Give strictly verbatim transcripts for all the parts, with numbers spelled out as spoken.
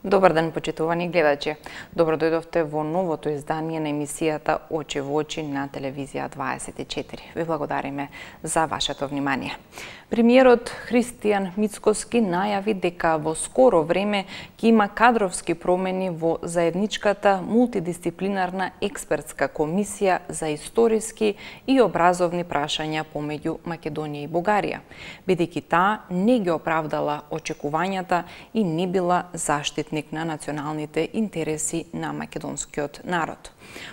Добар ден, почитувани гледачи. Добро дојдовте во новото издание на емисијата Очи во очи на телевизија дваесет и четири. Ви благодариме за вашето внимание. Премиерот Христијан Мицкоски најави дека во скоро време ќе има кадровски промени во заедничката мултидисциплинарна експертска комисија за историски и образовни прашања помеѓу Македонија и Бугарија, бидејќи таа не ги оправдала очекувањата и не била заштитник на националните интереси на македонскиот народ.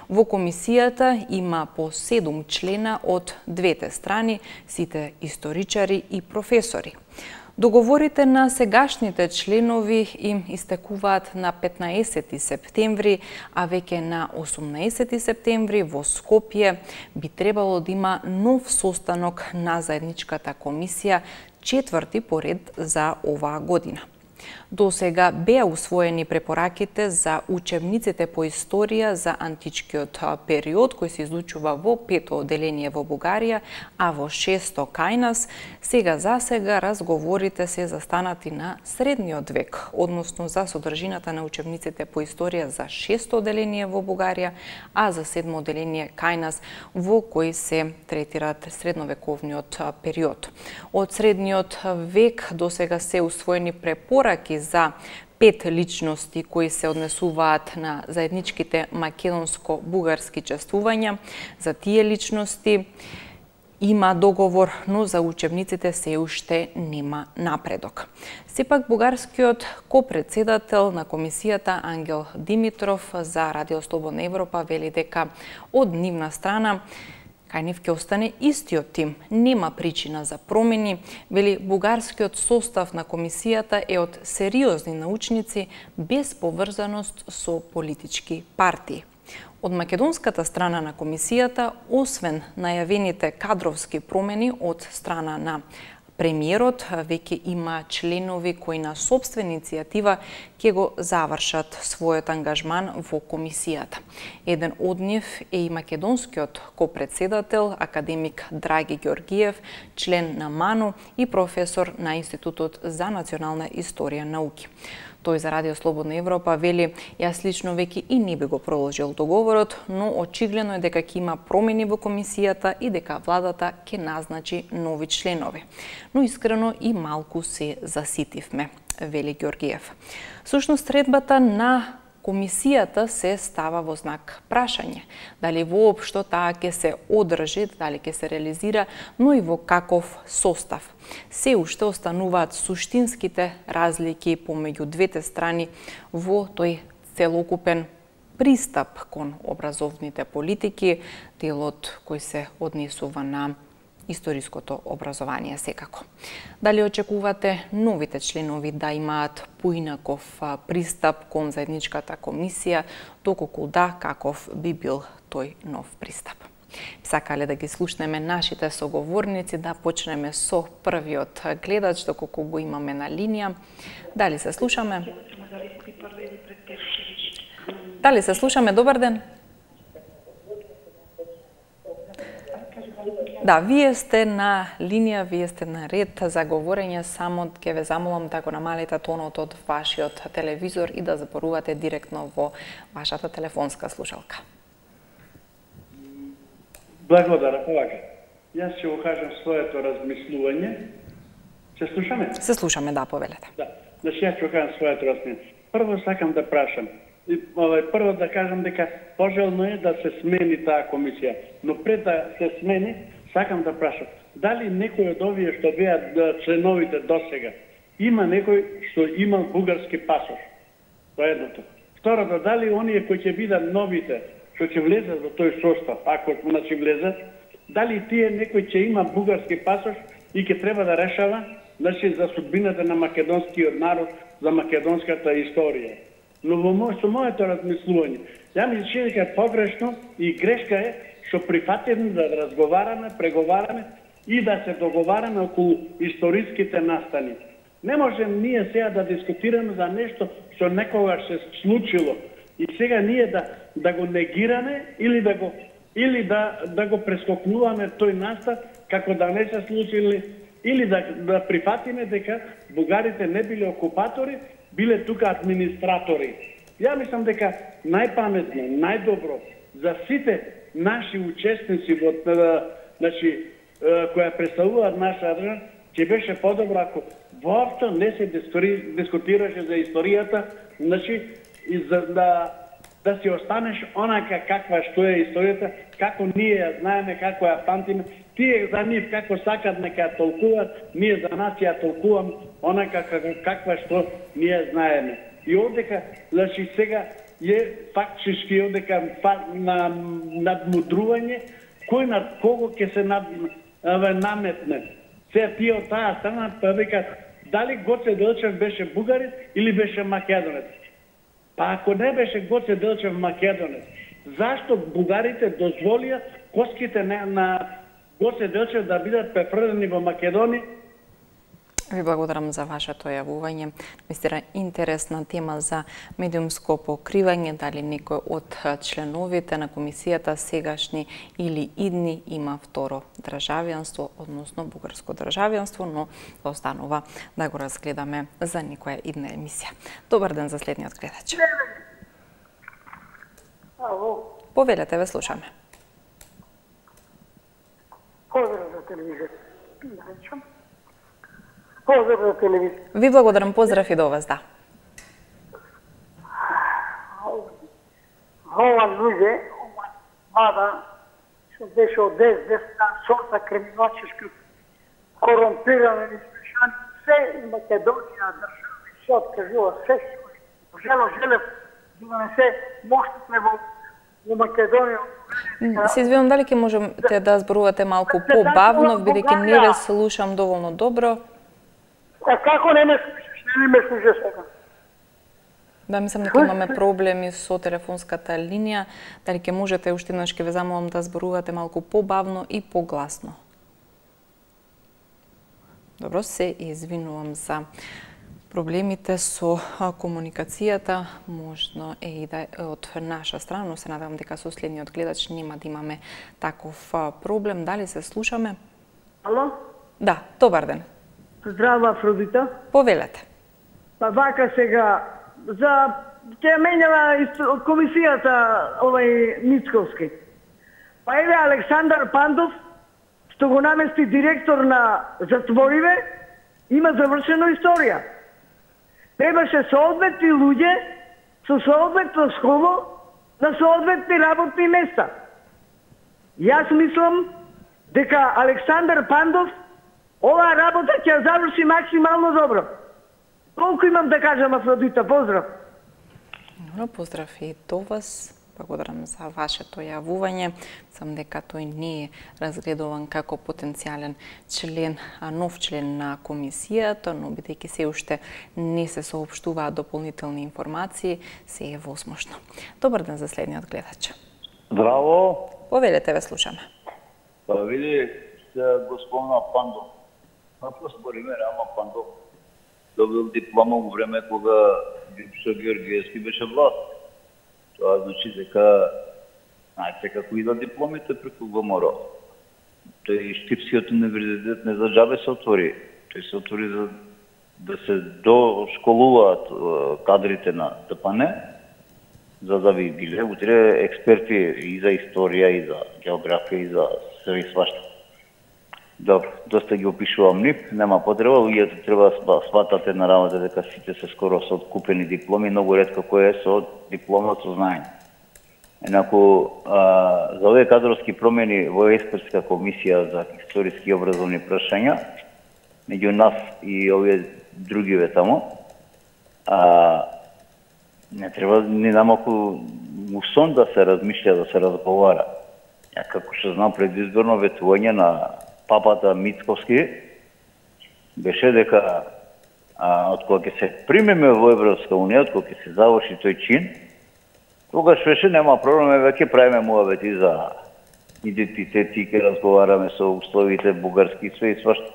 Во комисијата има по седум члена од двете страни, сите историчари и професори. Договорите на сегашните членови им истекуваат на петнаесети септември, а веќе на осумнаесети септември во Скопје би требало да има нов состанок на заедничката комисија, четврти поред за оваа година. До сега беа усвоени препораките за учебниците по историја за античкиот период, кој се изучува во пето оделение во Бугарија, а во шесто кај нас. Сега за сега разговорите се застанати на средниот век, односно за содржината на учебниците по историја за шесто оделение во Бугарија, а за седмо оделение кај нас, во кој се третираат средновековниот период. Од средниот век до сега се усвоени препораки за пет личности кои се однесуваат на заедничките македонско-бугарски чествувања. За тие личности има договор, но за учебниците се уште нема напредок. Сепак бугарскиот копредседател на комисијата Ангел Димитров за Радио Слободна Европа вели дека од нивна страна кај нив ќе остане истиот тим. Нема причина за промени, вели бугарскиот состав на комисијата е од сериозни научници без поврзаност со политички партии. Од македонската страна на комисијата, освен најавените кадровски промени од страна на премиерот, веќе има членови кои на сопствена иницијатива ќе го завршат својот ангажман во комисијата. Еден од нив е и македонскиот копредседател, академик Драги Ѓоргиев, член на МАНУ и професор на Институтот за национална историја науки. Тој за Радио Слободна Европа вели: "Јас лично веќе и не би го продолжил договорот, но очигледно е дека ќе има промени во комисијата и дека владата ќе назначи нови членови. Но искрено и малку се заситивме", вели Ѓоргиев. Сушност, средбата на комисијата се става во знак прашање. Дали воопшто таа ќе се одржи, дали ќе се реализира, но и во каков состав. Се уште остануваат суштинските разлики помеѓу двете страни во тој целокупен пристап кон образовните политики, делот кој се однесува на историското образование секако. Дали очекувате новите членови да имаат поинаков пристап кон заедничката комисија, доколку да, каков би бил тој нов пристап? Сакале да ги слушнеме нашите соговорници, да почнеме со првиот гледач, доколку го имаме на линија. Дали се слушаме? Дали се слушаме? Добар ден. Да, вие сте на линија, вие сте на ред за говорење, само ќе ве замолам да го намалите тонот од вашиот телевизор и да зборувате директно во вашата телефонска слушалка. Благодарам, повака. Јас ќе го кажам своето размислување. Се слушаме? Се слушаме, да, повелете. Да, значи јас ќе го кажам своето размислување. Прво сакам да прашам. И, овај, прво да кажам дека пожелно е да се смени таа комисија, но пред да се смени, сакам да прашам, дали некој од овие што беа членовите досега, има некој што има бугарски пасош? Тоа е едното. Второто, дали оние кои ќе бидат новите, што ќе влезат во тој состав, ако значи влезат, дали тие некој ќе има бугарски пасош и ќе треба да решава значи за судбината на македонскиот народ, за македонската историја. Но во мој, со моето размислување, ја ми се чини дека е погрешно и грешка е што прифатиме да разговараме, преговараме и да се договараме околу историските настани. Не можем ние сега да дискутираме за нешто што некогаш се случило и сега ние да да го негираме или да го или да да го прескокнуваме тој настан како да не се случили, или да да прифатиме дека бугарите не биле окупатори, биле тука администратори. Ја мислам дека најпаметно, најдобро за сите наши учесници во значи која представуваат наша држава, ќе беше подобро ако воопшто не се дискутираше за историјата, значи и за да да си останеш онака каква што е историјата, како ние ја знаеме, како ја памтиме. Тие за нив како сакат нека ја толкуваат, ние за нас ја толкувам онака каква што ние знаеме. И одека, значи сега е фактички одека на надмудрување кој над кого ќе се над, аве, наметне. Сега тие од таа страна па викат дали Гоце Делчев беше бугарин или беше македонец. Па ако не беше Гоце Делчев македонец, зашто бугарите дозволија коските на Гоце Делчев да бидат префрлени во Македонија? Ви благодарам за вашето јавување. Мистера интересна тема за медиумско покривање, дали некој од членовите на комисијата сегашни или идни има второ државјанство, односно бугарско државјанство, но останува да го разгледаме за некоја идна емисија. Добар ден за следниот гледач. Ало. Повелете, ве слушаме. Поздрав за телевизија. Поздрав за телевизија. Ви благодарам, поздрав и до вас, да. Ова луѓе, мада, што беше од дес, десна сорта криминалчешки, корумпирани, испешани, се Македонија држави, се откажува, се што жело, желев да не се моштите во во Македонија. Се извинувам, дали ќе можете да зборувате малку побавно, бидејќи не ве слушам доволно добро. А како не ме слушаш, не ме слушаш сега? Да, мислам дека имаме проблеми со телефонската линија. Дали ќе можете уште еднаш ќе ве замолам да зборувате малку побавно и погласно. Добро, се извинувам за проблемите со комуникацијата, можно е и да од наша страна, но се надевам дека со следниот гледач нема да имаме таков проблем. Дали се слушаме? Ало? Да, добар ден. Здрава, Афродита. Повелете. Па вака сега, за ќе менјава комисијата овај Мицковски. Па еве Александар Пандов, што го намести директор на затвориве, има завршена историја. Требаше соодветни луѓе со соодветно школо на соодветни работни места. Јас мислам дека Александар Пандов оваа работа ќе заврши максимално добро. Толку имам да кажам, Афродита, поздрав. Добро, поздрав и до вас. Благодарам за вашето јавување. Сам дека тој не е разгледуван како потенцијален член, а нов член на комисијата, но бидејќи се уште не се соопштуваат дополнителни информации, се е возможно. Добар ден за следниот гледач. Здраво. Повелете, ве слушаме. Па види, се господина Пандов. Ако спориме, Рама Пандов добил диплома во време кога Бившо Георгиевски беше власт. Тоа значи дека знаете како идат дипломите преку ВМРО. Тој Штипскиот универзитет не за џабе се отвори. Тој се отвори за да се дошколуваат кадрите на ТПН, за да би биле утре експерти и за историја, и за географија, и за све и свашта. Добро, доста ги опишувам нив, нема потреба, луѓето треба да сватате на работа дека сите се скоро со откупени дипломи, многу ретко кој е со диплома со знаење. Енаку, а, за овие кадровски промени во експертска комисија за историски и образовни прашања, меѓу нас и овие другиве тамо, а, не треба ни намалку мусон да се размишља, да се разговара. Ја како што знам предизборно ветување на папата Мицковски беше дека а, од кога ќе се примеме во Европска унија, од кога ќе се заврши тој чин, тогаш беше нема проблем, веќе правиме муавети за идентитети, ќе разговараме со условите бугарски све и свашто.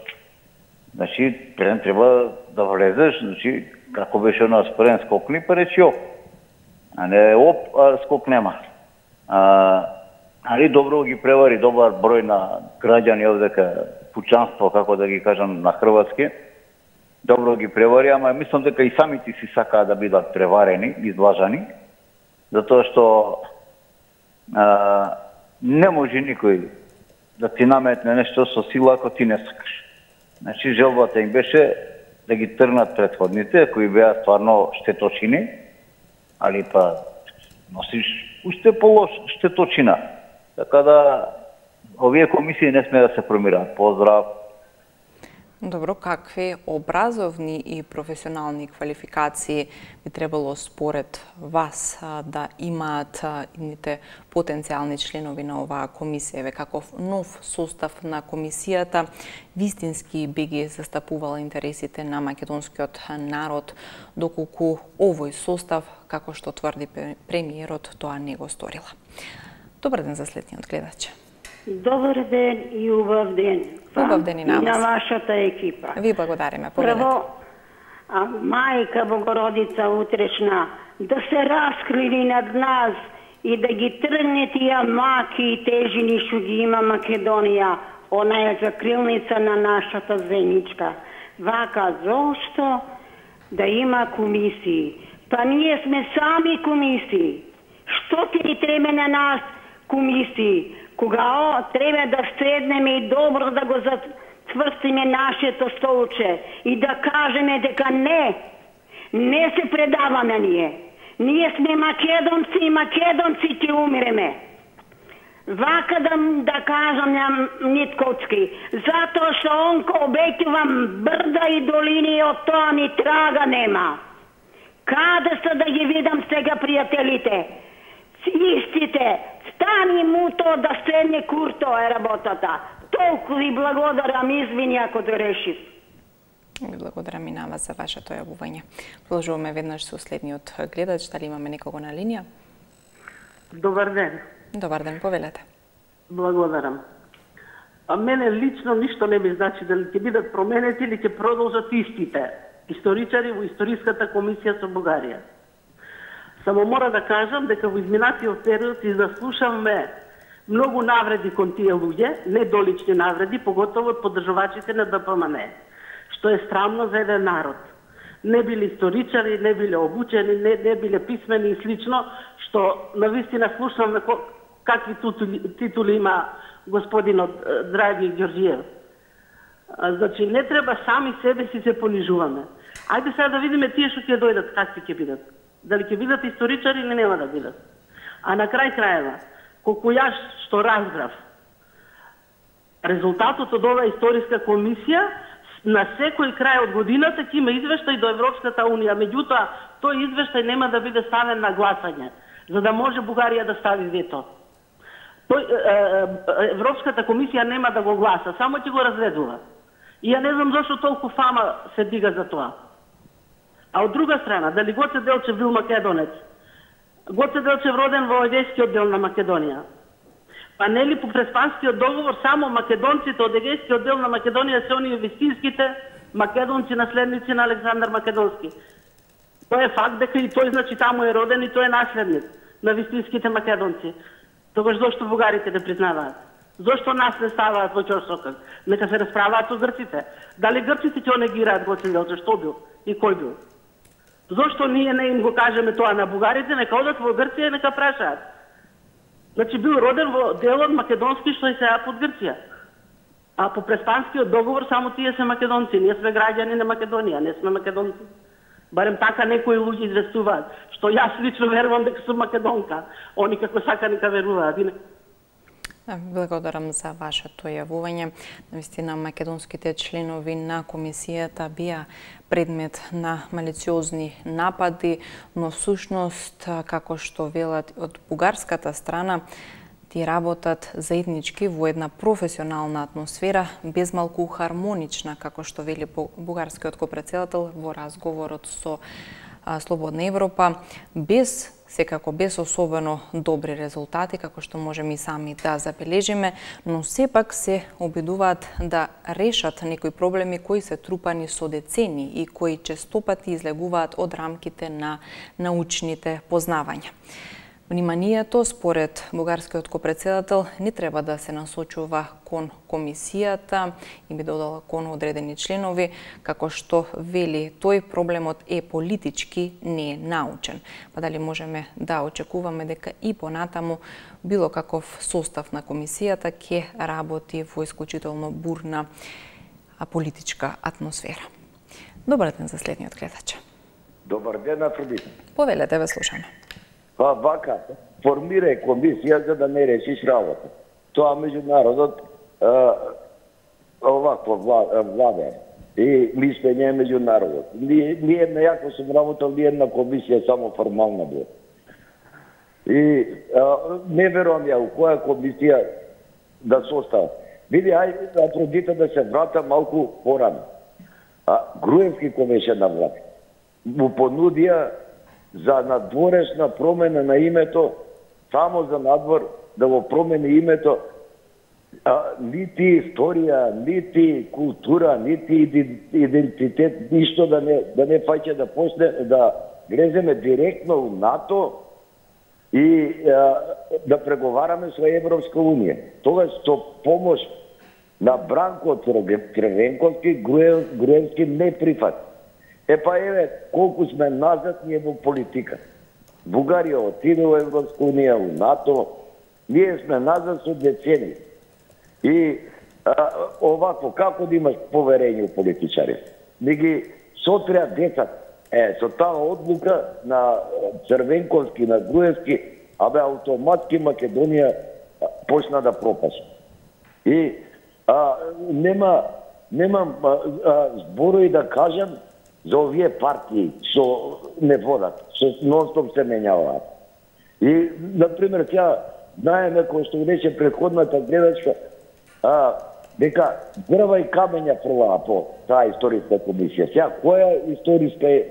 Значи, треба да влезеш, значи, како беше на спрен скокни, па речи оп. А не оп, а скок нема. А, али добро ги превари добар број на граѓани овдека, пучанство, како да ги кажам на хрватски, добро ги превари, ама мислам дека и самите си сакаат да бидат преварени, излажани, затоа што а, не може никој да ти наметне нешто со сила ако ти не сакаш. Значи, желбата им беше да ги трнат претходните, кои беа стварно штеточини, али па носиш уште полош штеточина. Така да, овие комисии не сме да се промираат. Поздрав! Добро, какви образовни и професионални квалификации би требало според вас да имаат идните потенцијални членови на оваа комисија? Еве каков нов состав на комисијата вистински би ги застапувал интересите на македонскиот народ, доколку овој состав, како што тврди премиерот, тоа не го сторила? Добар ден за следниот гледач. Добар ден и убав ден. Убав ден и на вас. И на вашата екипа. Ви благодариме. Прво, а, Мајка Богородица утрешна, да се раскрили над нас и да ги тргне тие маки и тежини што ги има Македонија, она е закрилница на нашата земјичка. Вака, зошто да има комисии? Па ние сме сами комисии. Што ти ни треба на нас комисии? Кога треба да седнеме и добро да го затврстиме нашето столче и да кажеме дека не, не се предаваме ние. Ние сме македонци и македонци ќе умиреме. Вака да, да кажам на Нитковски, затоа што онко обеќувам брда и долини и од тоа ни трага нема. Каде се да ги видам сега пријателите? Истите, стани му то да седне Курто е работата. Толку ви благодарам, извини ако да решив. Ви благодарам и на вас за вашето јавување. Продолжуваме веднаш со следниот гледач. Дали имаме некого на линија? Добар ден. Добар ден, повелете. Благодарам. А мене лично ништо не ми значи дали ќе бидат променети или ќе продолжат истите историчари во Историската комисија со Бугарија. Само мора да кажам дека во изминатиот период и да слушаме многу навреди кон тие луѓе, недолични навреди, поготово од поддржувачите на Д П М Н, што е срамно за еден народ. Не биле историчари, не биле обучени, не, не биле писмени и слично, што навистина слушаме какви титули, титули има господинот Драги Ѓорѓиев. Значи, не треба сами себе си се понижуваме. Ајде сега да видиме тие што ќе дојдат, какви ќе бидат. Дали ќе бидат историчари или нема да бидат. А на крај крајeva, колку јас што разбрав, резултатот од оваа историска комисија на секој крај од годината ќе има извештај до Европската унија, меѓутоа тој извештај нема да биде ставен на гласање, за да може Бугарија да стави вето. Тој, е, Европската комисија нема да го гласа, само ќе го разгледува. И ја не знам зашто толку фама се дига за тоа. А од друга страна, дали Гоце Делчев бил македонец? Гоце Делчев роден во Егејскиот дел на Македонија. Па нели по Преспанскиот договор само македонците од Егејскиот дел на Македонија се оние вистинските македонци наследници на Александар Македонски. Тоа е факт дека и тој значи таму е роден и тој е наследник на вистинските македонци. Тогаш зошто бугарите не признаваат? Зошто нас не ставаат во ќорсокак? Нека се расправаат со грците. Дали грците ќе онегираат Гоце Делчев? Што бил и кој бил? Зошто ние не им го кажеме тоа на бугарите? Нека одат во Грција и нека прашаат. Значи бил роден во делот македонски што е сега под Грција. А по Преспанскиот договор само тие се македонци. Ние сме граѓани на Македонија, не сме македонци. Барем така некои луѓе известуваат, што јас лично верувам дека сум македонка. Они како сака нека веруваат. Благодарам за вашето јавување. Навистина, македонските членови на комисијата бија предмет на малициозни напади, но всушност, како што велат од бугарската страна, ти работат заеднички во една професионална атмосфера, безмалку хармонична, како што вели бугарскиот копредседател во разговорот со Слободна Европа, без секако без особено добри резултати, како што можеме и сами да забележиме, но сепак се обидуваат да решат некои проблеми кои се трупани со децени и кои честопати излегуваат од рамките на научните познавања. Вниманието, според бугарскиот копредседател, не треба да се насочува кон комисијата и би додала кон одредени членови, како што вели тој, проблемот е политички, не е научен. Па дали можеме да очекуваме дека и понатаму било каков состав на комисијата ќе работи во исклучително бурна политичка атмосфера. Добар ден за следниот гледач. Добар ден, Афродита. Повелете, ве слушаме. Па вака, формирај комисија за да не решиш работа. Тоа меѓународот овакво влада и мислење меѓународот. Ние, ние нејако сум работал ни една комисија само формална била. И а, не верувам ја у која комисија да состава. Види, ајде Афродита да се врата малку порано. А Груевски кој беше на власт, му понудија за надворешна промена на името, само за надвор да го промени името, а, нити историја, нити култура, нити идентитет, ништо да не да не фаќа да почне да влеземе директно у НАТО и а, да преговараме со Европска унија. Тогаш со помош на Бранко Црвенковски, Груев, Груевски не прифати. Е па еве, колку сме назад ние во политика. Бугарија отиде во Европска унија, у НАТО, ние сме назад со децени. И а, овако, како да имаш поверење у политичари? Да ги сотрија децата. Е, со таа одлука на Црвенковски, на Груевски, абе автоматски Македонија почна да пропаша. И а, нема, немам а, а, зборови да кажам за овие партии што не водат, што нон-стоп се менјаваат. И, например, тя знаеме, кој што рече предходната гледачка, а, дека дрва и камења прваа по таа историска комисија. Сега, која историска е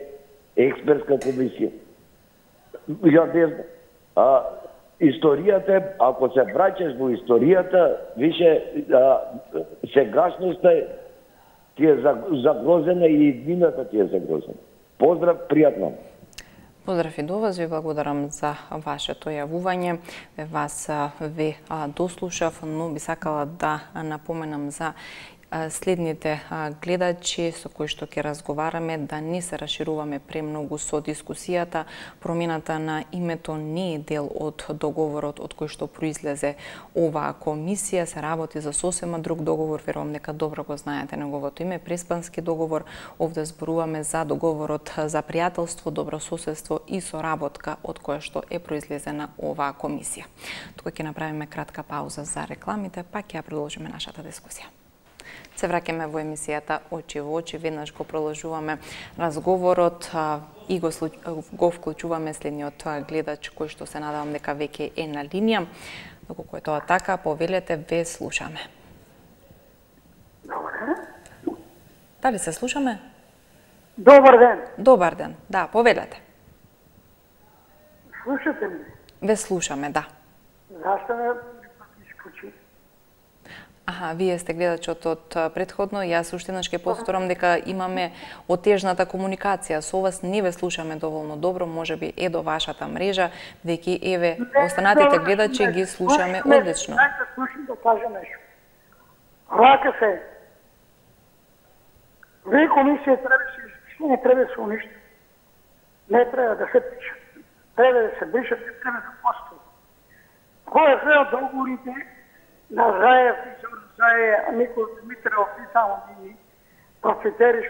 експертска комисија? Ја не знам. А, историјата е, ако се враќаш во историјата, више а, сегашноста е ти е загрозена и иднината ти е загрозена. Поздрав, пријатно. Поздрав и до вас, ви благодарам за вашето јавување. Вас ве дослушав, но би сакала да напоменам за следните гледачи со кои што ќе разговараме, да не се расшируваме премногу со дискусијата. Промената на името не е дел од договорот од кој што произлезе оваа комисија. Се работи за сосема друг договор, верувам дека добро го знаете неговото име, Преспански договор. Овде зборуваме за договорот за пријателство, добрососедство и соработка од која што е произлезена оваа комисија. Тука ќе направиме кратка пауза за рекламите, па ќе ја продолжиме нашата дискусија. Се враќаме во емисијата Очи во очи, веднаш го продолжуваме разговорот и го, го вклучуваме следниот гледач кој што се надевам дека веќе е на линија. Доколку е тоа така, повелете, ве слушаме. Добар ден. Дали се слушаме? Добар ден. Добар ден, да, повелете. Слушате ме? Ве слушаме, да. Зашто ме исклучи? Аха, вие сте гледачот од предходно, јас уште еднаш ќе повторам дека имаме отежната комуникација со вас, не ве слушаме доволно добро, можеби е до вашата мрежа, веќе еве останатите гледачи ги слушаме одлично. Дајте слушам да кажам нешто. Рака се. Вие комисија требаше, што не треба да се уништи. Не треба да се пише. Треба да се бришат, не треба да постои. Кој е све од договорите на Заев, Заев, Никола Димитров и само ги процетериш.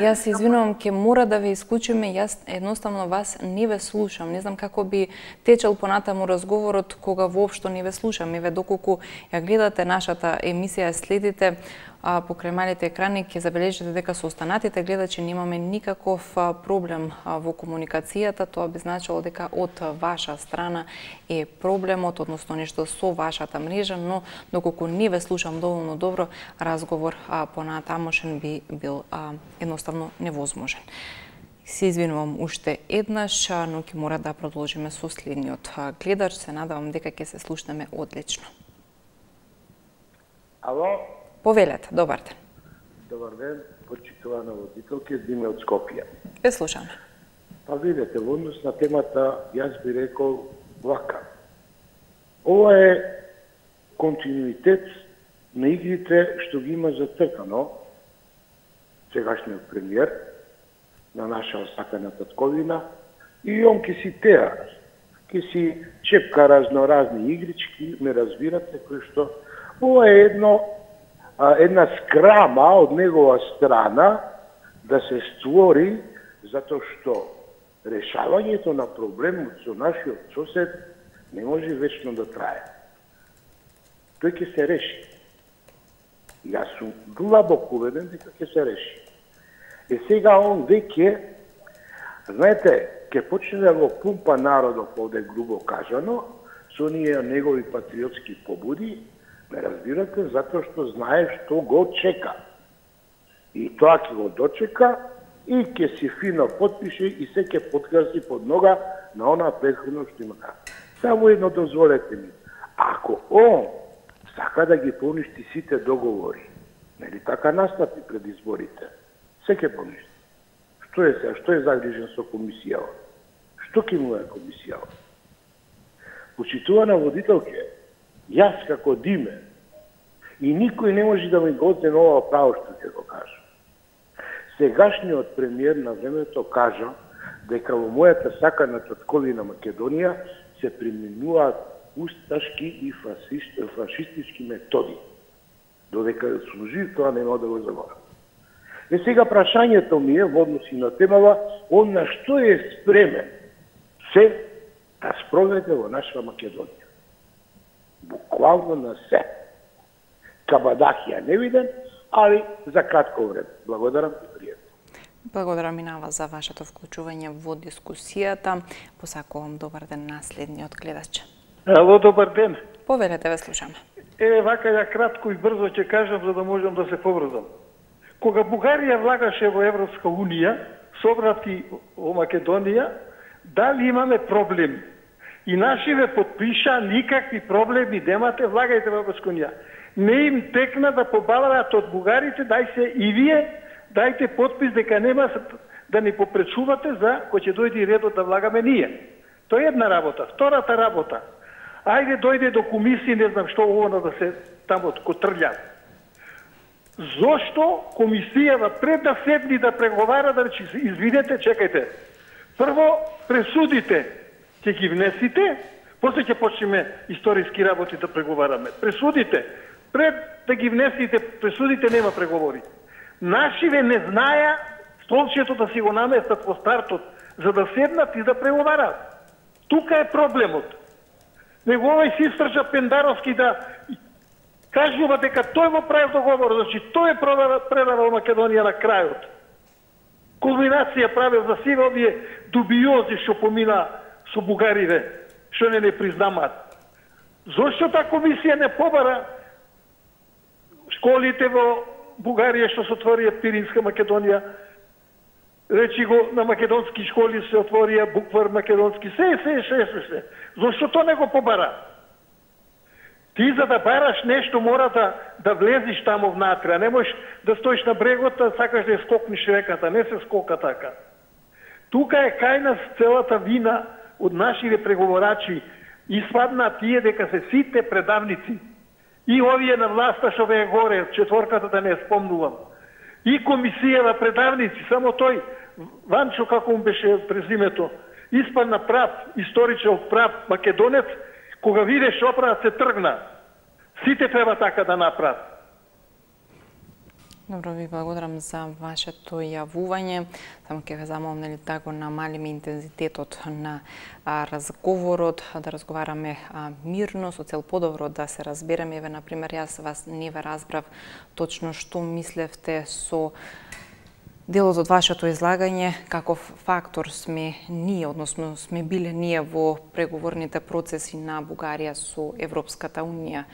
Јас се извинувам, ќе мора да ве исклучиме, јас едноставно вас не ве слушам. Не знам како би течел понатаму разговорот кога воопшто не ве слушам. Еве доколку ја гледате нашата емисија, следите а, покрај малите екрани, ќе забележите дека со останатите гледачи немаме никаков а, проблем а, во комуникацијата. Тоа би значило дека од ваша страна е проблемот, односно нешто со вашата мрежа, но доколку не ве слушам доволно добро, разговор а, понатамошен би бил а, едноставно невозможен. Се извинувам уште еднаш, но ќе мора да продолжиме со следниот гледач. Се надавам дека ќе се слушнеме одлично. Ало? Повелете, добар ден. Добар ден, почитувана водителка, Диме од Скопје. Ве слушаме. Па видете, во однос на темата, јас би рекол, вака. Ова е континуитет на игрите што ги има зацртано сегашниот премиер на наша осакана татковина и он ке си теа, ке си чепка разноразни игрички, ме разбирате, кои што ова е едно, а, една скрама од негова страна да се створи затоа што решавањето на проблемот со нашиот сосед не може вечно да трае. Тој ќе се реши. Јас сум длабоко убеден дека ќе се реши. И сега он веќе, знаете, ќе почне да го пумпа народот, овде грубо кажано, со оние негови патриотски побуди, ме разбирате, затоа што знае што го чека. И тоа ќе го дочека и ќе си фино подпише и се ќе подкраси под нога на она претходно што има. Само едно дозволете ми. Ако он сака да ги поништи сите договори, нели така настапи пред изборите, се ќе поништи. Што е сега? Што е загрижен со комисијава? Што ќе му е комисијава? Почитувана водителке, јас како Диме, и никој не може да ми го отземе ова право што ќе го кажа. Сегашниот премиер на времето кажа дека во мојата сакана татковина Македонија се применуваат усташки и фашистички методи. Додека сум жив, тоа нема да го заборам. Е сега прашањето ми е во односи на темава, он на што е спремен се да спроведе во наша Македонија. Буквално на се. Кабадахија не виден, али за кратко време. Благодарам и пријатно. Благодарам и на вас за вашето вклучување во дискусијата. Посакувам добар ден на следниот гледач. Ало, добар ден. Повелете, ве слушаме. Е, вака ја кратко и брзо ќе кажам за да можам да се поврзам. Кога Бугарија влагаше во Европска унија, собрати во Македонија, дали имаме проблем? И нашиве подпиша никакви проблеми немате, влагајте во Европска унија. Не им текна да побалаат од бугарите, дај се и вие, дајте подпис дека нема да ни попречувате за кој ќе дојде редот да влагаме ние. Тоа е една работа. Втората работа. Ајде дојде до комисија, не знам што ово да се тамо котрља. Зошто комисијава пред да седни да преговара, да речи, извинете, чекајте. Прво пресудите ќе ги внесите, после ќе почнеме историски работи да преговараме. Пресудите, пред да ги внесите пресудите нема преговори. Нашиве не знаја столчето да си го наместат во стартот, за да седнат и да преговарат. Тука е проблемот. Него овој си стржа Пендаровски да кажува дека тој го правил договор, значи тој е предавал Македонија на крајот. Кулминација правил за сиве овие дубиози што помина со бугарите, што не не признамаат. Зошто таа комисија не побара школите во Бугарија што се отворија Пиринска Македонија, речи го на македонски школи се отворија буквар македонски, се, се, се, се, се. Зошто тоа не го побара? Ти за да бараш нешто мора да, да влезиш тамо внатре, а не можеш да стоиш на брегот, а сакаш да ја скокнеш реката, не се скока така. Тука е кај нас целата вина од нашите преговорачи, испадна тие дека се сите предавници. И овие на власта што ве е горе, четворката да не спомнувам. И комисијава предавници, само тој, Ванчо, како му беше презимето, испадна прав, историчен прав македонец, кога видеш оправа се тргна. Сите треба така да направат. Добро, ви благодарам за вашето јавување. Само ќе ве замолам нели да го намалиме интензитетот на а, разговорот, да разговараме а, мирно, со цел подобро да се разбереме. Еве, например, јас вас не ве разбрав точно што мислевте со делот од вашето излагање, каков фактор сме ние, односно сме биле ние во преговорните процеси на Бугарија со Европската унија.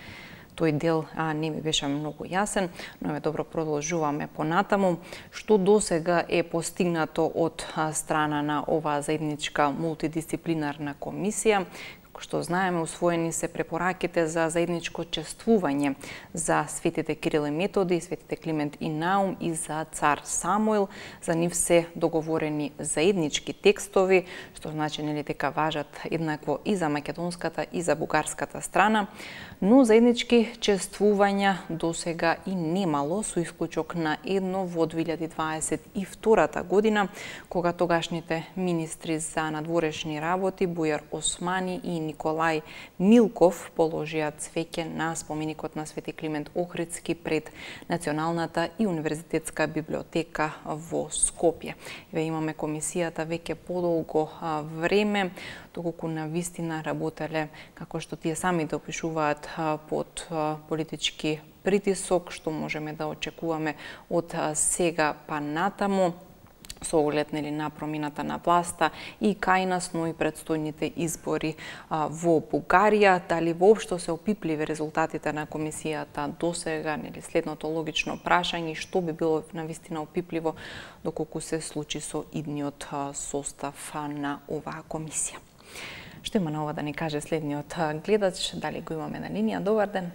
Тој дел а, не ми беше многу јасен, но е добро, продолжуваме понатаму. Што досега е постигнато од а, страна на оваа заедничка мултидисциплинарна комисија? Кој што знаеме, усвоени се препораките за заедничко чествување за светите Кирил и Методи, светите Климент и Наум и за цар Самуил. За нив се договорени заеднички текстови, што значи нели дека важат еднакво и за македонската и за бугарската страна, но заеднички чествувања досега и немало, со исклучок на едно во две илјади дваесет и втората година, кога тогашните министри за надворешни работи Бујар Османи и Николај Милков положија цвеќе на споменикот на Свети Климент Охридски пред Националната и универзитетска библиотека во Скопје. Ве имаме комисијата веќе подолго време, доколку на вистина работеле, како што тие сами да опишуваат, под политички притисок, што можеме да очекуваме од сега па натаму, со оглед нели на промината на власта и кај нас, но и предстојните избори а, во Бугарија. Дали воопшто се опипливи резултатите на комисијата досега, нели следното логично прашање, што би било навистина опипливо доколку се случи со идниот а, состав а, на оваа комисија. Што има на ова да ни каже следниот гледач, дали го имаме на линија? Добар ден.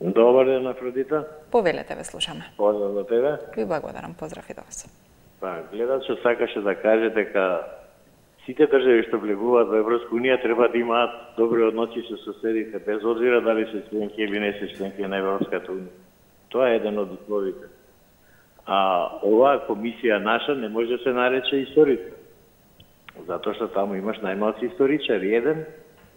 Добар ден, Афродита. Повелете, ве слушаме. Поздрав за тебе. Ви благодарам, поздрав и до вас. Па, гледачот сакаше да каже дека сите држави што влегуваат во Европска унија треба да имаат добри односи со соседите, без обзира дали се членки или не се членки на Европската унија. Тоа е еден од условите. А оваа комисија наша не може да се нарече историска. Затоа што таму имаш најмалци историчари, еден,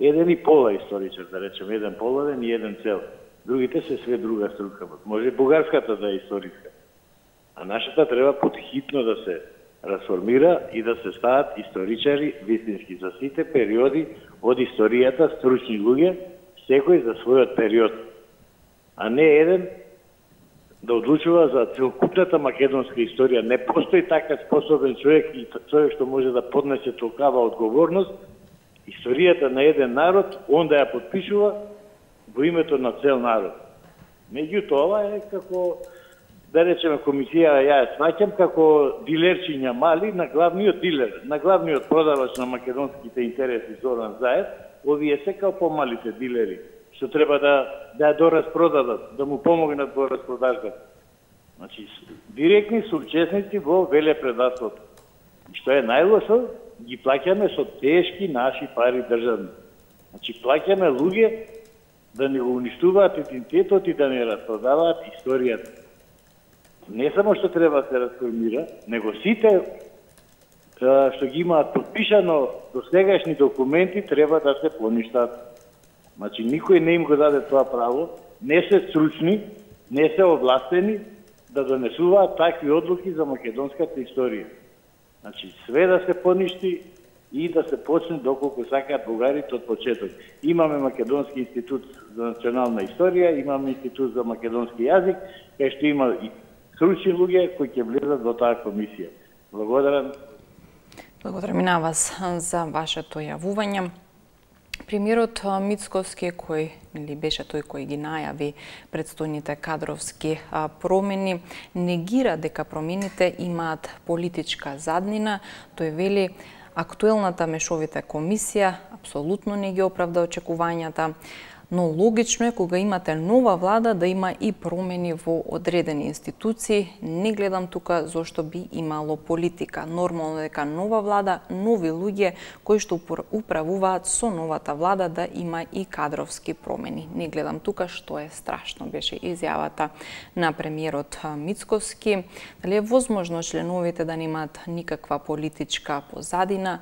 еден и пола историчар, да речем, еден половен и еден цел. Другите се све друга струка. Може бугарската да е историска. А нашата треба подхитно да се расформира и да се стават историчари вистински за сите периоди од историјата, стручни луѓе, секој за својот период. А не еден да одлучува за целокупната македонска историја. Не постои така способен човек и човек што може да поднесе толкава одговорност. Историјата на еден народ, он да ја подпишува во името на цел народ. Меѓутоа, ова е како, да речеме, комисија, ја ја сваќам како дилерчиња мали на главниот дилер, на главниот продавач на македонските интереси Зоран Заев, овие се као помалите дилери, што треба да да ја доразпродадат, да му помогнат во распродажбата. Значи, директни соучесници во велепредавството. И што е најлошо, ги плаќаме со тешки наши пари државни. Значи, плаќаме луѓе да не го уништуваат идентитетот и да не распродаваат историјата. Не само што треба да се расформира, него сите што ги имаат подпишано до сегашни документи треба да се поништат. Значи, никој не им го даде тоа право, не се стручни, не се овластени да донесуваат такви одлуки за македонската историја. Значи, све да се поништи и да се почне доколку сакаат бугарите од почеток. Имаме Македонски институт за национална историја, имаме институт за македонски јазик, кај што има и стручни луѓе кои ќе влезат во таа комисија. Благодарам. Благодарам и на вас за вашето јавување. Премиерот Мицкоски, кој или беше тој кој ги најави предстојните кадровски промени, негира дека промените имаат политичка заднина. Тој вели актуелната мешовита комисија апсолутно не ги оправда очекувањата, но логично е кога имате нова влада да има и промени во одредени институции. Не гледам тука зошто би имало политика. Нормално е дека нова влада, нови луѓе кои што управуваат со новата влада да има и кадровски промени. Не гледам тука што е страшно, беше изјавата на премиерот Мицкоски. Дали е возможно членовите да немаат никаква политичка позадина?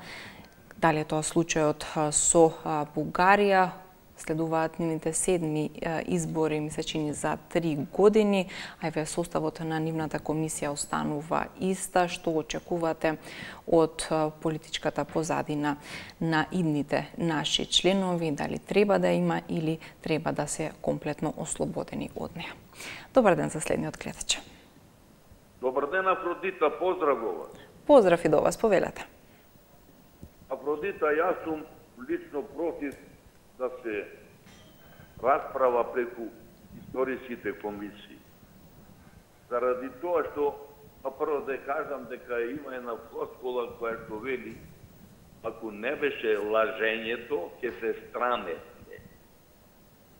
Дали е тоа случајот со Бугарија? Следуваат нивните седми избори, ми се чини, за три години, а еве составот на нивната комисија останува иста. Што очекувате од политичката позадина на идните наши членови? Дали треба да има или треба да се комплетно ослободени од неа? Добар ден за следниот гледач. Добар ден, Афродита, поздрав во вас. Поздрав и до вас, повелете. Афродита, јас сум лично против да се расправа преку историските комисии. Заради тоа што, а прво да кажам дека има една флоскула која што вели ако не беше лажењето, ќе се срамете.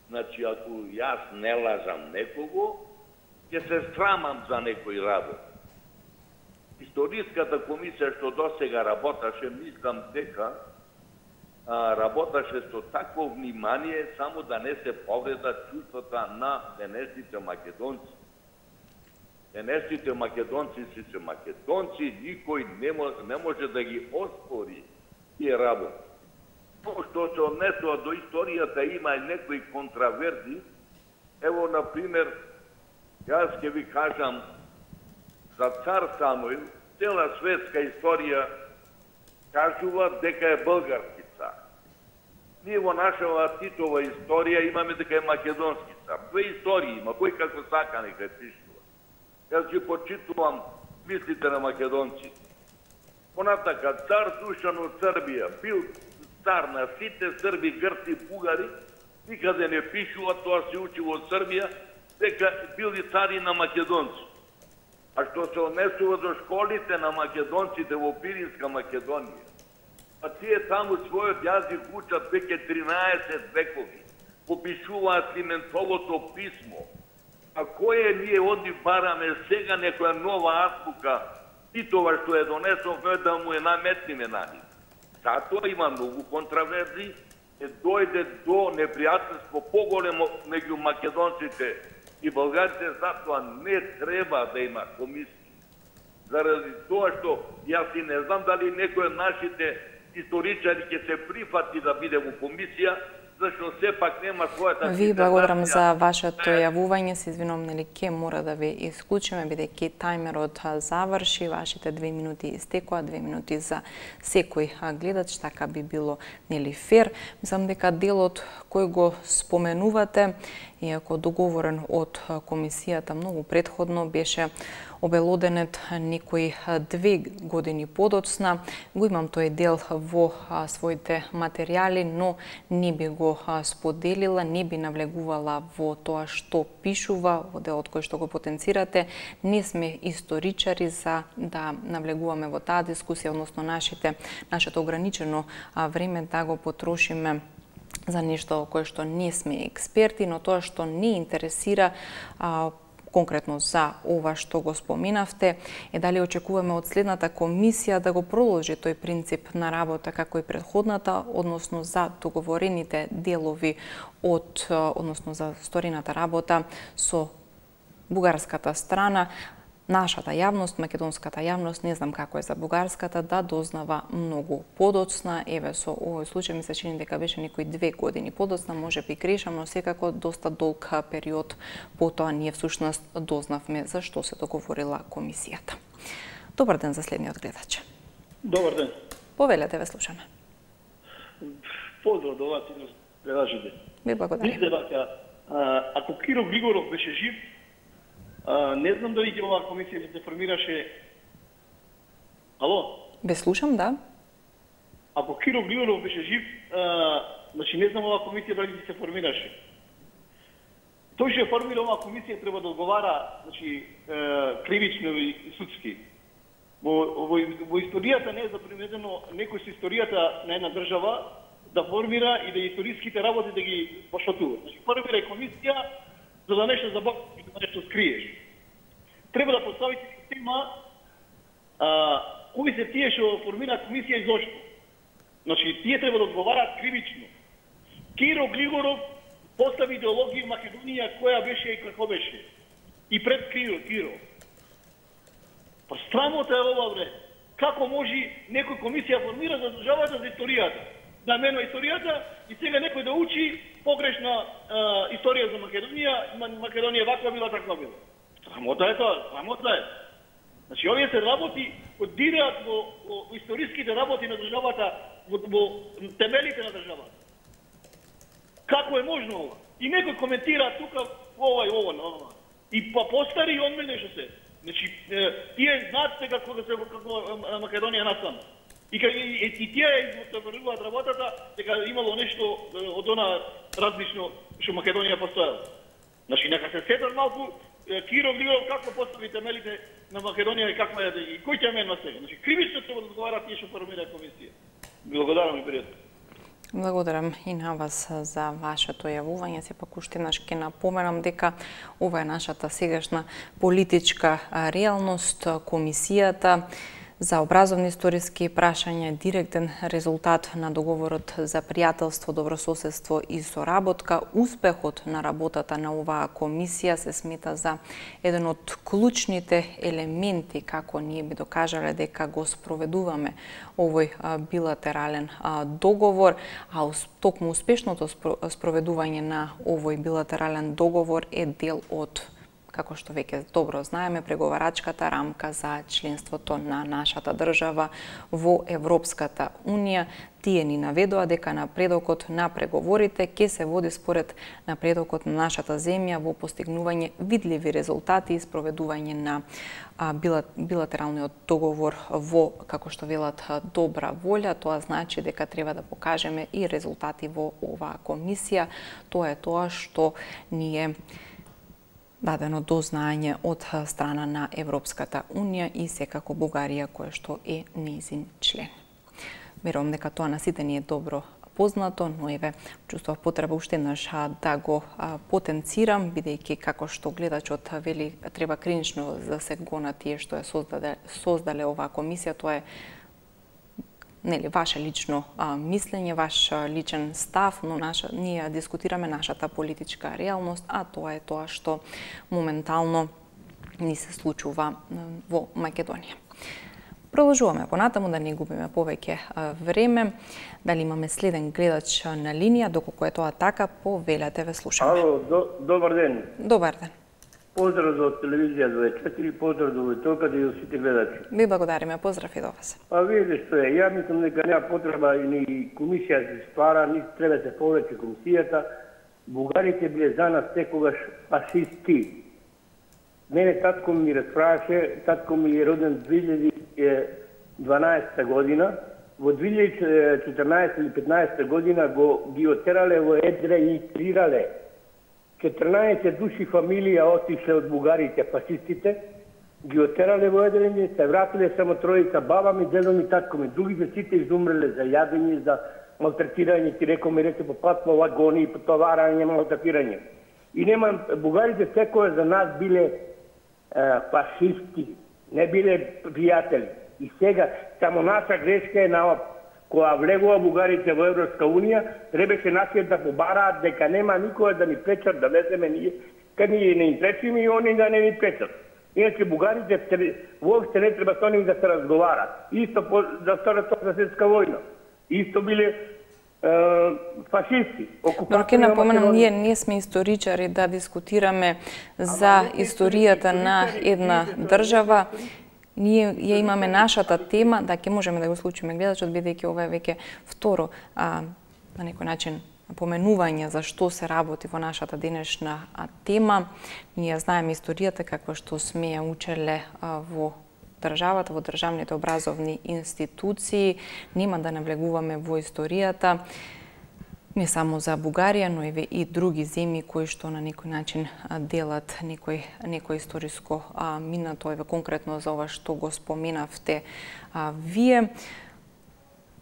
Значи, ако јас не лажам некого, ќе се срамам за некој работ. Историската комисија што досега работаше, мислам дека а, работеше со такво внимание само да не се повреда чувствата на денешните македонци. Денешните македонци си се македонци, никој не може, не може да ги оспори тие работи. Но што се однесува до историјата, има и некои контраверзи. Ево, например, јас ќе ви кажам за цар Самуил, цела светска историја кажува дека е български цар. Ние во нашава Титова историја имаме дека е македонски цар. Две истории има, кој како сака нека е пишува. Јас ќе почитувам мислите на македонци. Понатака, цар Душан од Србија бил цар на сите срби, грци, бугари, никаде не пишува, тоа се учи во Србија, дека били цари на македонци. А што се однесува до школите на македонците во Пиринска Македонија, а тие таму својот јазик учат веќе тринаесет векови, попишуваат Климентовото писмо. А кое ние одни бараме сега некоја нова азбука, Титова што е донесовме да му е наметниме на нив. Затоа има многу контраверзи, е дојде до непријателство поголемо меѓу македонците и българите, затоа не треба да има комисија. Заради тоа што јас и не знам дали некој од нашите историчари ќе се прифати да биде во комисија, зашто сепак нема својата... Ви благодарам за вашето јавување, се извинувам, нели ќе мора да ви исклучиме, бидејќи тајмерот заврши, вашите две минути истекоа, две минути за секој гледач, така би било нели фер. Мислам дека делот кој го споменувате, иако договорен од комисијата многу предходно, беше обелоденет некои две години подоцна. Го имам тој дел во своите материјали, но не би го споделила, не би навлегувала во тоа што пишува, во делот кој што го потенцирате. Не сме историчари за да навлегуваме во таа дискусија, односно нашите, нашето ограничено време да го потрошиме за нешто кое што не сме експерти, но тоа што не интересира а, конкретно за ова што го споменавте, е дали очекуваме од следната комисија да го продолжи тој принцип на работа како и предходната, односно за договорените делови од, односно за сторината работа со бугарската страна. Нашата јавност, македонската јавност, не знам како е за бугарската, да дознава многу подоцна. Еве, со овој случај ми се чини дека беше некои две години подоцна, може би грешам, но секако доста долг период потоа ние всушност дознавме за што се договорила комисијата. Добар ден за следниот гледач. Добар ден. Повелете, ве слушаме. Поздрав до вас и до гледачите. Ви благодарам. Мисле дека ако Киро Григоров беше жив, Uh, не знам дали ќе оваа комисија се формираше... Ало? Бе слушам, да. Ако Киро Григоров беше жив, uh, значи не знам оваа комисија дали ќе се формираше. Тој што формира оваа комисија треба да одговара, значи, uh, кривично и судски. Во, во, во историјата не е заприметено некој со историјата на една држава да формира и да историските работи да ги поштатува. Значи, формира комисија за да нешто забавиш, за да нешто скриеш. Треба да поставите система а, кои се тие што формираат комисија и зошто. Значи, тие треба да одговараат кривично. Киро Григоров постави идеологија в Македонија која беше и како беше. И пред Киро, Киро. Па срамота е ова, бре. Како може некој комисија формира за државата за историјата? Да менува историјата и сега некој да учи погрешна а, историја за Македонија, Македонија ваква била, таква била. Срамота е тоа, срамота е. Значи, овие се работи одираат во, во, во историските работи на државата, во, во темелите на државата. Како е можно ова? И некој коментира тука ова и ова, ова. И па постари и онме нешто се. Значи, тие знаат сега како се како Македонија насам. И, и, и, и тие измотивираат работата дека имало нешто од она различно што Македонија постоела. Значи, нека се сетат малку Киро Григоров како постави темелите на Македонија и како е и кој ќе менува сега. Значи, кривично треба да одговара тие што формира комисија. Благодарам и пријатно. Благодарам и на вас за вашето јавување. Сепак уште еднаш ќе напоменам дека ова е нашата сегашна политичка реалност. Комисијата за образовни историски прашања, директен резултат на договорот за пријателство, добрососедство и соработка. Успехот на работата на оваа комисија се смета за еден од клучните елементи како ние би докажале дека го спроведуваме овој билатерален договор, а токму успешното спроведување на овој билатерален договор е дел од, како што веќе добро знаеме, преговарачката рамка за членството на нашата држава во Европската Унија. Тие ни наведоа дека напредокот на преговорите ќе се води според напредокот на нашата земја во постигнување видливи резултати и спроведување на билатералниот договор во, како што велат, добра волја. Тоа значи дека треба да покажеме и резултати во оваа комисија. Тоа е тоа што ние дадено до знаење од страна на Европската Унија и секако Бугарија, која што е нејзин член. Верувам дека тоа на сите ни е добро познато, но еве чувствував потреба уште еднаш да го потенцирам, бидејќи како што гледачот вели треба кринично да се гона тие што е создале, создале оваа комисија. Тоа е нели ваше лично а, мислење, ваш а, личен став, но наша, ние дискутираме нашата политичка реалност, а тоа е тоа што моментално ни се случува во Македонија. Продолжуваме понатаму да не губиме повеќе време. Дали имаме следен гледач на линија, доколку е тоа така, повелете, ве слушаме. Ало, до, добар ден. Добар ден. Поздрав за телевизија дваесет и четири, поздрав до Војтока и до сите гледачи. Ви благодариме, поздрав и до вас. Па видите што е, ја мислам дека нема потреба и ни комисија се ствара, ни треба да се повеќе комисијата. Бугарите биле за нас секогаш фашисти. Мене татко ми расправаше, татко ми е роден две илјади и дванаесета година. Во две илјади и четрнаесета или петнаесета година го ги отерале во Едре и трирале. четрнаесет души фамилија отишле од бугарите, фашистите, ги отерале во Едрени, се вратиле само тројица, баба ми, дедо ми, татко ми. Другите сите изумреле за јадење, за малтретирање, ти рекол ми рече по пат, по вагони, по товарање, малтретирање. И нема, бугарите секој за нас биле е, фашисти, не биле пријатели. И сега, само наша грешка е на кога влегува бугарите во Европска Унија, требаше нашите да побараат дека нема никој да ни пречат да влеземе ние, кај ние не им пречиме и они да не ни пречат. Иначе бугарите воопште не треба со нив да се разговарат. Исто по, за Втората светска војна. Исто биле е, фашисти. Но ќе напоменам, ние не сме историчари да дискутираме за историјата на една држава. Ние ја имаме нашата тема, да ќе можеме да го случиме гледачот, бидејќи ова е веќе второ а, на некој начин поменување за што се работи во нашата денешна тема. Ние знаеме историјата каква што сме ја учеле а, во државата, во државните образовни институции. Нема да навлегуваме во историјата не само за Бугарија, но и други земји кои што на некој начин делат некој, некој историско а, минато, еве конкретно за ова што го споменавте а, вие.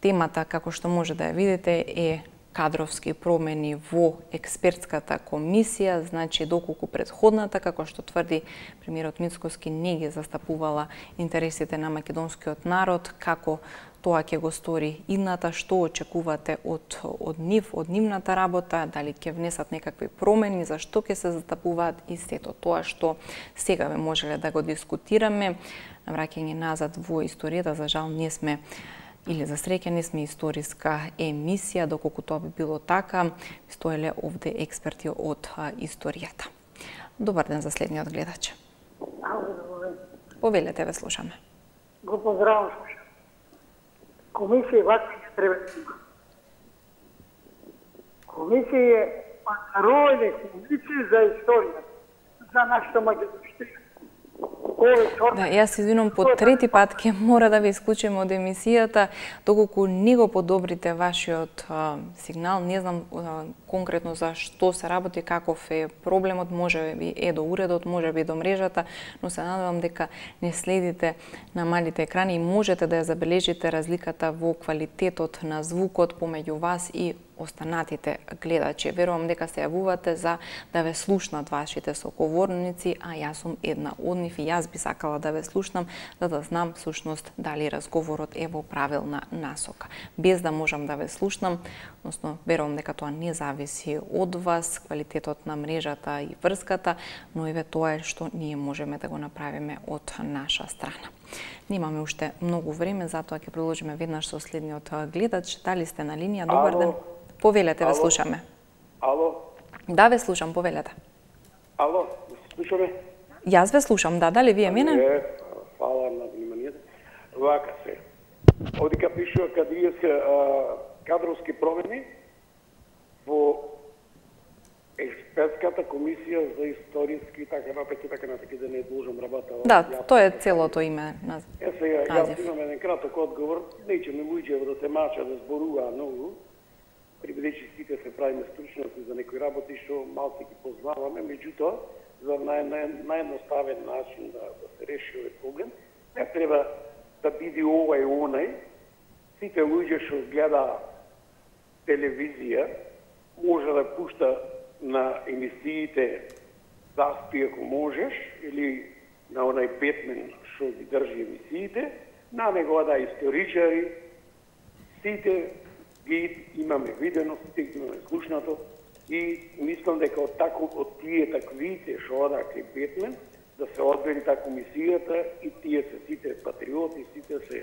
Темата, како што може да ја видите, е кадровски промени во експертската комисија, значи доколку предходната, како што тврди премиерот Мицкоски, не ги застапувала интересите на македонскиот народ, како тоа ќе го стори идната, што очекувате од, од нив, од нивната работа, дали ќе внесат некакви промени, зашто ќе се застапуваат и сето тоа што сега ве можеле да го дискутираме. Навраќање назад во историјата, за жал не сме или за среќа не сме историска емисија, доколку тоа би било така, стоеле овде експерти од а, историјата. Добар ден за следниот гледач. Повелете, ве слушаме. Го поздравам. Комисија вакви не треба да има. Комисија е панародне комисија за историја, за нашата македонска. Николе, Да, јас извинувам по трети пат ќе мора да ве исклучиме од емисијата, доколку не го подобрите вашиот а, сигнал, не знам а, конкретно за што се работи, каков е проблемот, може би е до уредот, може би до мрежата, но се надевам дека не следите на малите екрани и можете да ја забележите разликата во квалитетот на звукот помеѓу вас и останатите гледачи. Верувам дека се јавувате за да ве слушнат вашите соговорници, а јас сум една од нив и јас би сакала да ве слушнам, за да знам всушност дали разговорот е во правилна насока. Без да можам да ве слушнам, односно верувам дека тоа не зависи од вас, квалитетот на мрежата и врската, но еве тоа е што ние можеме да го направиме од наша страна. Немаме уште многу време, затоа ќе продолжиме веднаш со следниот гледач. Дали сте на линија? Добар Ало. ден. Повелете, ве Ало. слушаме. Ало? Да, ве слушам, повелете. Ало, слушаме? Јас ве слушам, да, дали вие мене? Е, фала на вниманието. Вака се. Овдека пишува кадријска кадровски промени во експертската комисија за историски и така напред и така напред, да не должам работа. Да, тоа е целото име на Е, сега, јас назив. имам еден краток одговор. Неќе ми луѓе да се мача, да зборуваа многу, прибедејќи сите се правиме стручности за некои работи што малку ги познаваме, меѓутоа, за нај, нај, наједноставен начин да, да се реши овој проблем, не треба да биде ова и онај. Сите луѓе што гледа телевизија може да пушта на емисиите Заспи ако можеш или на онај Бетмен што ги држи емисиите, на него да историчари, сите ги имаме видено, сите ги имаме слушнато и мислам дека од тако од тие таквите што одаа кај Бетмен да се одбери таа комисијата и тие се сите патриоти, сите се,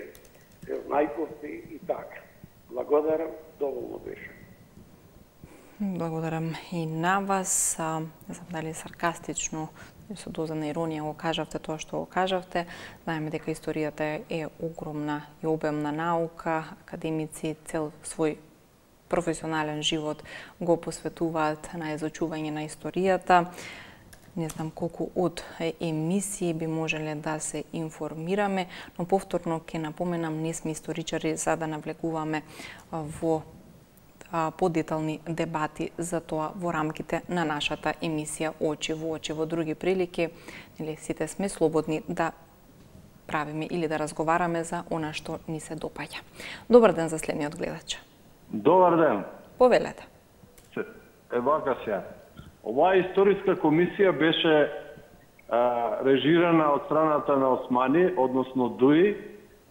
се знајковци и така. Благодарам, доволно беше. Благодарам и на вас. А, не знам дали саркастично со доза на иронија го кажавте тоа што го кажавте. Знаеме дека историјата е огромна и обемна наука. Академици цел свој професионален живот го посветуваат на изучување на историјата. Не знам колку од емисии би можеле да се информираме, но повторно ќе напоменам, не сме историчари за да навлекуваме во подетални дебати за тоа во рамките на нашата емисија Очи во очи. Во други прилики, или сите сме слободни да правиме или да разговараме за она што ни се допаѓа. Добар ден за следниот гледач. Добар ден. Повелете. Е вака се. Оваа историска комисија беше а, режирана од страната на Османи, односно ДУИ,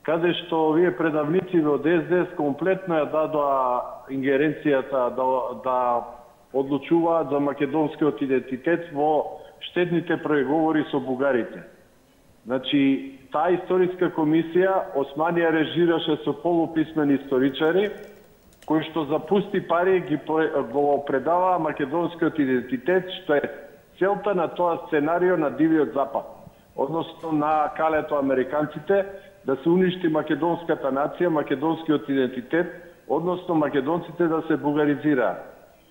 каде што овие предавници од Ес Де Ес комплетно ја дадоа ингеренцијата да, да одлучуваат за македонскиот идентитет во штетните преговори со бугарите. Значи, таа историска комисија Османи ја режираше со полуписмени историчари, кои што за пусти пари ги го предава македонскиот идентитет, што е целта на тоа сценарио на Дивиот Запад, односно на калето американците, да се уништи македонската нација, македонскиот идентитет, односно македонците да се бугаризираат.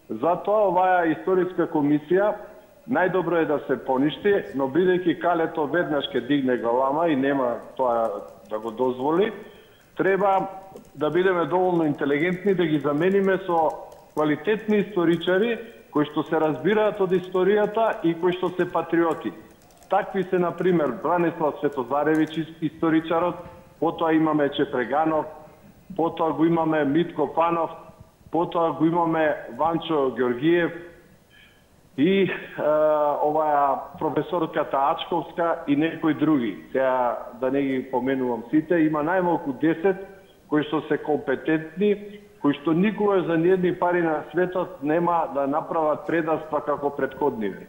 Затоа оваа историска комисија најдобро е да се поништи, но бидејќи калето веднаш ќе дигне галама и нема тоа да го дозволи, треба да бидеме доволно интелигентни да ги замениме со квалитетни историчари кои што се разбираат од историјата и кои што се патриоти. Такви се, например, Бранислав Светозаревич, историчарот, потоа имаме Чепреганов, потоа го имаме Митко Панов, потоа го имаме Ванчо Георгиев и е, оваа професорката Ачковска и некои други. Сега да не ги поменувам сите, има најмалку десет кои што се компетентни, кои што никога за ниедни пари на светот нема да направат предаства како претходниве.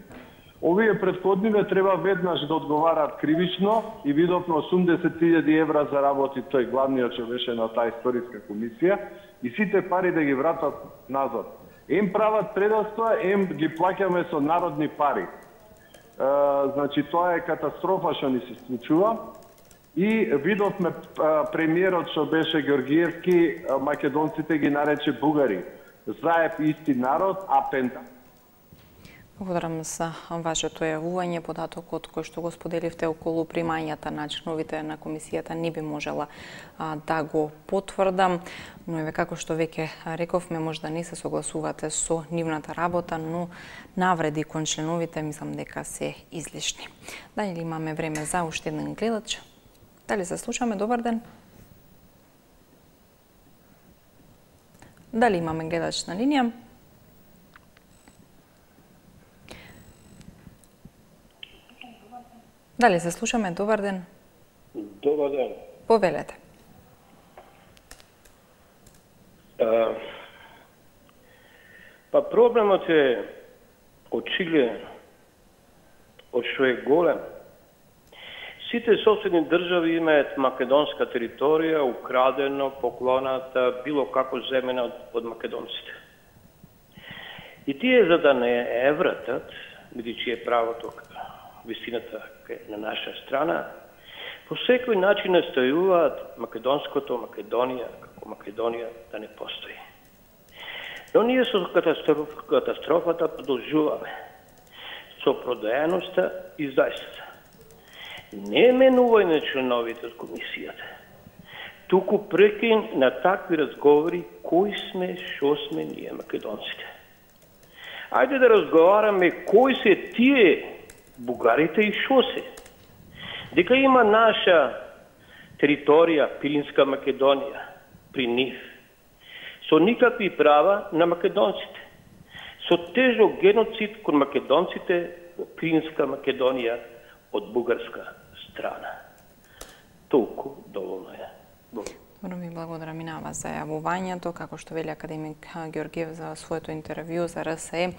Овие претходниве треба веднаш да одговараат кривично и видовме осумдесет илјади евра за работи тој главниот што беше на таа историска комисија и сите пари да ги вратат назад. Ем прават предаства, ем ги плаќаме со народни пари. E, значи тоа е катастрофа што ни се случува. И видовме премиерот што беше Георгиевски, македонците ги нарече бугари. Заеб исти народ, а пента. Благодарам за вашето јавување. Податокот кој што го споделивте околу примањата на членовите на комисијата не би можела а, да го потврдам, но еве како што веќе рековме, можда не се согласувате со нивната работа, но навреди кон членовите мислам дека се излишни. Дали имаме време за уште еден гледач? Дали се слушаме? Добар ден. Дали имаме гледач на линија? Дали се слушаме? Добар ден. Добар ден. Повелете. А, па проблемот е очигледен, од што е голем. Сите соседни држави имаат македонска територија, украдено, поклоната, било како земена од, од македонците. И тие за да не е вратат, бидејќи е правото, вистината на наша страна, по секој начин настојуваат македонското Македонија, како Македонија да не постои. Но ние со катастроф, катастрофата продолжуваме, со продаеноста и зајствата. Не менување членовите од комисијата, туку прекин на такви разговори кои сме, шо сме ние македонците. Ајде да разговараме кои се тие бугарите и шо се. Дека има наша територија, Пиринска Македонија, при нив, со никакви права на македонците, со тежок геноцид кон македонците во Пиринска Македонија од бугарска страна. Толку доволно е. Добро, ви благодарам и на вас за јавувањето. Како што вели академик Георгиев за своето интервју за Р С Е,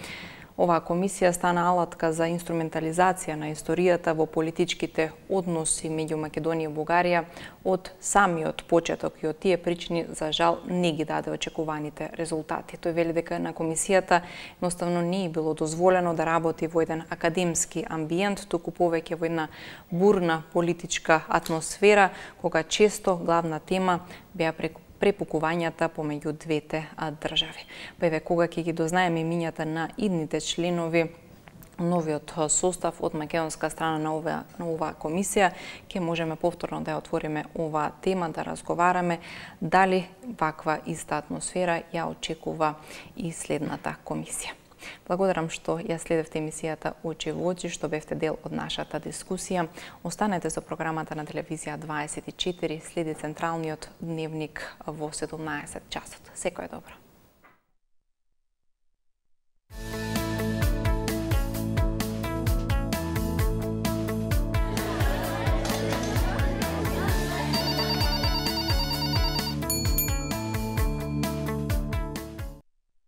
оваа комисија стана алатка за инструментализација на историјата во политичките односи меѓу Македонија и Бугарија од самиот почеток и од тие причини, за жал, не ги даде очекуваните резултати. Тој вели дека на комисијата едноставно не е било дозволено да работи во еден академски амбиент, туку повеќе во една бурна политичка атмосфера, кога често главна тема беа преку препукувањата помеѓу двете држави. Па еве кога ќе ги дознаеме имињата на идните членови, новиот состав од македонска страна на оваа на оваа комисија, ќе можеме повторно да ја отвориме оваа тема, да разговараме дали ваква иста атмосфера ја очекува и следната комисија. Благодарам што ја следевте емисијата Очи во очи, што бевте дел од нашата дискусија. Останете со програмата на телевизија дваесет и четири, следи централниот дневник во седумнаесет часот. Секој добро.